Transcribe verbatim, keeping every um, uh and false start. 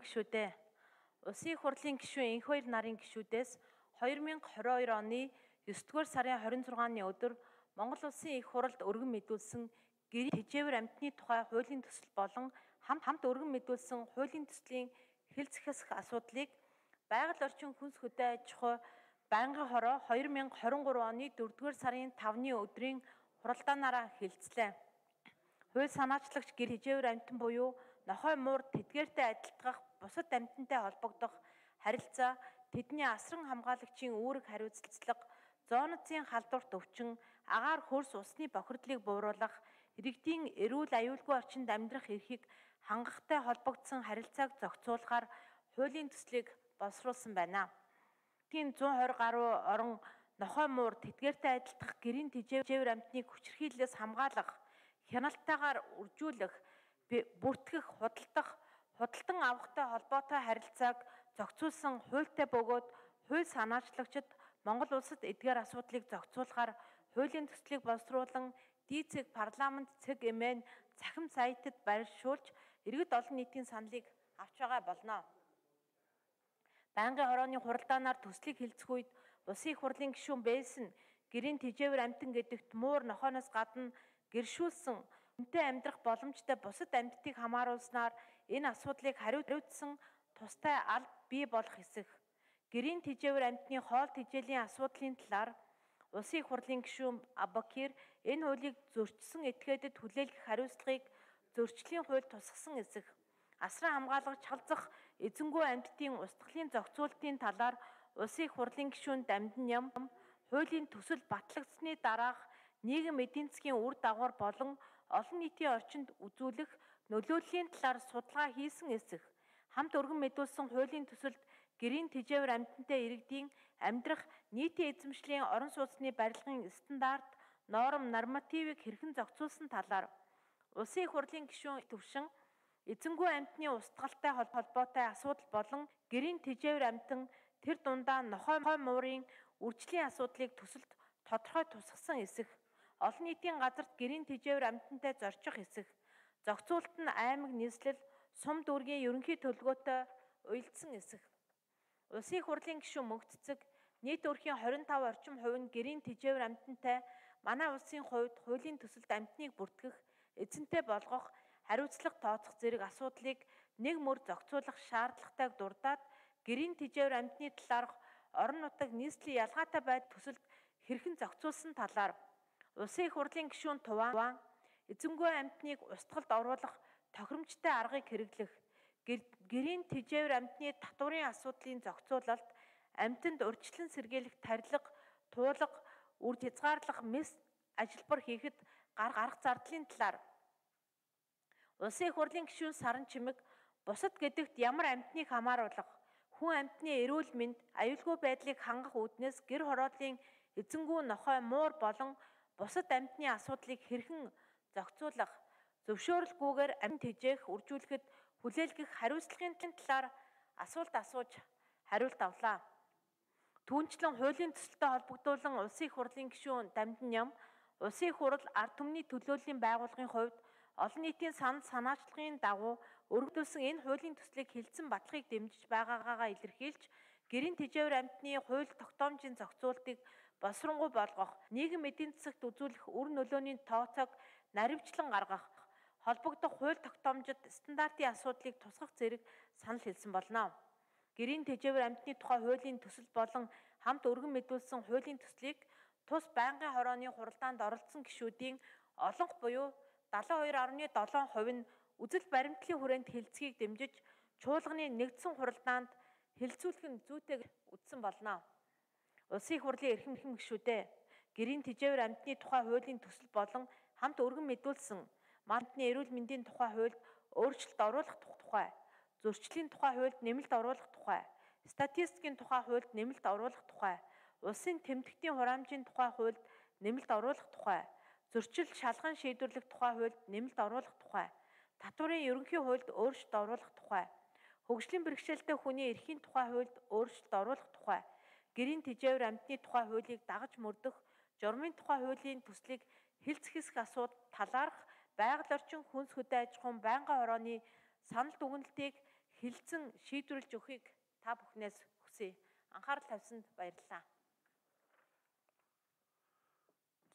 гишүүдээ. Улсын их хурлын гишүүн энх хоёр нарын гишүүдээс хоёр мянга хорин хоёр оны есдүгээр сарын хорин зургааны өдөр Монгол Улсын их хуралд өргөн мэдүүлсэн гэрийн тэжээвэр амьтны тухай хуулийн төсөл болон хамт хамт өргөн мэдүүлсэн хуулийн төслийн хэлц хэсэх асуудлыг Байгаль орчин хүнс хөдөө аж ахуй байнгын хороо хоёр мянга хорин гурав оны дөрөвдүгээр сарын тавны өдрийн хуралдаанаараа хэлцлээ. Хууль санаачлагч гэр тэжээвэр амьтан буюу нохой муур тэдгээртэй адилтгах бусад амьтантай холбогдох харилцаа, тэдний асран хамгаалагчийн үүрэг хариуцлага, зоонцын халдварт өвчин, агаар хөрс усны бохирдлыг бууруулах, иргэдийн эрүүл аюулгүй орчинд амьдрах эрхийг хангахтай холбогдсон харилцааг зохицуулахаар хуулийн төслийг боловсруулсан байна. Тийм зуун хорин гаруй орон нохой муур тэдгээртэй адилтгах гэрийн тэжээвэр амьтныг хүчирхийллээс хамгаалах, хяналтайгаар үржүүлэх, бүртгэх, худалдах, худалдан авахтай холбоотой харилцааг зохицуулсан хуультай бөгөөд хууль санаачлагчид Монгол улсад эдгээр асуудлыг зохицуулахаар хуулийн төслийг боловсруулан дийцэг парламент цэг эмээн цахим сайтад байршуулж иргэд олон нийтийн саналыг авч байгаа болно. Байнгын хорооны хуралдаанаар төслийг хэлцэх үед Улсын их хурлын гишүүн байсан гэрийн тэжээвэр амьтан гэдэгт муур нохооноос гадна гэршүүлсэн үнэтэй амьдрах боломжтой бусад амьтдыг хамааруулснаар энэ асуудлыг хариуцсан тустай алба бий болох хэсэг. Гэрийн тэжээвэр амьтны хоол тэжээлийн асуудлын талаар Улсын их хурлын гишүүн Абакир энэ хуулийг зөрчсөн этгээдэд хүлээлгэх хариуцлагыг зөрчлийн хууль тусгасан хэсэг. Асран хамгаалагч халзах эзэнгүй амьтдын устгалын зохицуултын талаар Улсын их хурлын гишүүн Дамжин Ням хуулийн төсөл батлагдсны дараах нийгэм эдийн засгийн үр дагавар болон олон нийтийн орчинд үзүүлэх нөлөөллийн талаар судалгаа хийсэн хэсэг. Хамт өргөн мэдүүлсэн хуулийн төсөлд гэрийн тэжээвэр амьтантай иргэдийн амьдрах нийтийн эзэмшлийн орон сууцны барилгын стандарт, норм, нормативыг хэрхэн зохицуулсан талаар Улсын их хурлын гишүүн төвшин эзэнгүй амьтны устгалтай холбоотой асуудал болон гэрийн тэжээвэр амьтан тэр дундаа нохой муурын үржлийн асуудлыг төсөлд тодорхой тусгасан хэсэг. Олон нийтийн газарт гэрийн тэжээвэр амьтантай зорчих хэсэг. Зохицуулт нь аймаг нийслэл, сум дүүргийн ерөнхий төлөвлөгөөтэй уялдсан хэсэг. Улсын их хурлын гишүүн Мөнхцэцэг нийт өрхийн хорин тав орчим хувь нь гэрийн тэжээвэр амьтантай манай улсын хувьд хуулийн төсөлд амьтныг бүртгэх, эзэнтэй болгох, хариуцлага тооцох зэрэг асуудлыг нэг мөр зохицуулах шаардлагатайг дурдаад гэрийн тэжээвэр амьтны талаарх орон нутаг нийслэлийн ялгаатай байдал төсөлд хэрхэн зохицуулсан талаар Улсын их хурлын гишүүн Туван эзэнгүй амьтныг устгалд оруулах тохиромжтой аргыг хэрэглэх, гэрийн тэжээвэр амьтны татварын асуудлын зохицуулалт, амьтанд урьдчилан сэргийлэх тарилга, туулга, үр хязгаарлах мэс ажилбар хийхэд гарах зардлын талаар Улсын их хурлын гишүүн Саран Чимэг бусад гэдэгт ямар амьтныг хамааруулах, хүн амьтны эрүүл мэнд, аюулгүй байдлыг хангах үүднээс гэр хорооллын эзэнгүй нохой муур болон бусад амьтны асуудлыг хэрхэн зохицуулах, зөвшөөрөлгүйгээр амьд тэжээх, үржүүлэхэд хүлээлгэх хариуцлагын талаар асуулт асууж хариулт авлаа. Түүнчлэн хуулийн төсөлтэй холбогдуулан Улсын их хурлын гишүүн Дамжин Ням Улсын их хурал ард түмний төлөөллийн байгууллагын хувьд олон нийтийн санал санаачлагын дагуу өргөдүүлсэн энэ хуулийн төслийг хэлтсэн баталгааг дэмжиж байгаагаагаа илэрхийлж, гэрийн тэжээвэр амьтны хууль тогтоомжийн зохицуултыг боловсронгуй болгох, нийгэм эдийн засагт үзүүлэх үр нөлөөний тооцоог наривчлан гаргах, холбогдох хууль тогтоомжид стандартын асуудлыг тусгах зэрэг санал хэлсэн болно. Гэрийн тэжээвэр амьтны тухай хуулийн төсөл болон хамт өргөн мэдүүлсэн хуулийн төслийг тус байнгын хорооны хуралдаанд оролцсон гишүүдийн олонх буюу далайн хоёр гаруй долоо хувь нь үзэл баримтлалын хүрээнд хэлцгийг дэмжиж чуулганы нэгдсэн хуралдаанд хэлцүүлэх нь зүйтэй үзсэн болно. Улсын их хурлын эрхэм гишүүдээ гэрийн тэжээвэр амьтны тухай хуулийн төсөл болон хамт өргөн мэдүүлсэн мандны эрүүл мэндийн тухай хуульд өөрчлөлт оруулах тухай, зөрчлийн тухай хуульд нэмэлт оруулах тухай, статистикийн тухай хуульд нэмэлт оруулах тухай, улсын тэмдэгтийн хураамжийн тухай хуульд нэмэлт оруулах тухай, зөрчил шалган шийдвэрлэх тухай хуульд нэмэлт оруулах тухай, татварын ерөнхий хуульд өөрчлөлт оруулах тухай, хөгжлийн бэрхшээлтэй хүний эрхийн тухай хуульд өөрчлөлт оруулах тухай, гэрийн тэжээвэр амьтны тухай хуулийг дагаж мөрдөх, журмын тухай хуулийн төслийг хэлцэх хэсэг асуудал талаарх байгаль орчин хүнс хөдөө аж ахуйн байнгын хорооны санал дүгнэлтийг хилцэн шийдвэрлэж өгөхийг та бүхнээс хүсье. Анхаарал тавьсанд баярлалаа.